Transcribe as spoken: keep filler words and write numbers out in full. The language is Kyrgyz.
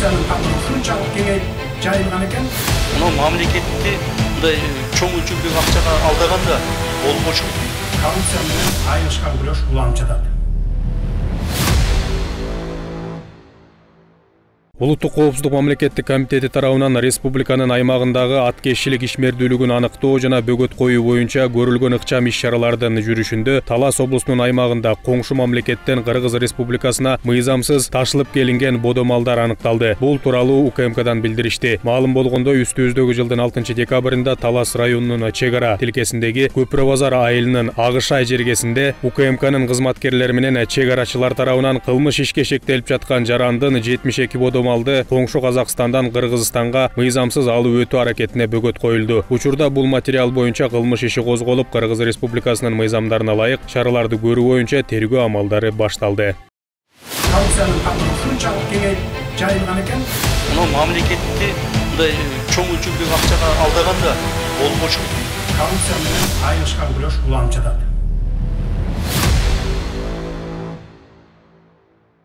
коррупциянын тамыры ушунчалык кеңейип жайылган экен. Мына мамлекетти мындай чоң өлчөмдөгү акчага алдаганда болбошу. Коррупция менен айылышкан күрөш уланып жатат. Улуттук коопсуздук мамлекеттик комитети тарабынан республиканын аймагындагы аткезчилик ишмердүүлүгүн аныктоо жана бөгөт коюу боюнча көрүлгөн ыкчам иш-чаралардын жүрүшүндө Талас облусунун аймагында коңшу мамлекеттен Кыргыз Республикасына мыйзамсыз ташылып келинген бодо малдар аныкталды. Бул тууралуу У К М Кдан билдиришти. Маалым болгондой, үстүбүздөгү жылдын алтынчы декабрында Талас районунун чек ара тилкесиндеги Көпүрө базар айылынын Агышай жергесинде У К М Кнын кызматкерлери менен чек арачылар тарабынан кылмыш ишке шектелип жаткан жарандын жетимиш эки бодо малды коңшу Казакстандан Кыргызстанга мыйзамсыз алып өтүү аракетине бөгөт коюлду. Учурда бул материал боюнча кылмыш иши козголуп, Кыргыз Республикасынын мыйзамдарына ылайык чараларды көрүү боюнча тергөө амалдары башталды. Коррупциянын тамыры ушунчалык кеңейип жайылган экен. Мына мамлекетти мындай чоң өлчөмдөгү акчага алдаганда болбошу. Коррупция менен айылышкан күрөш уланып жатат.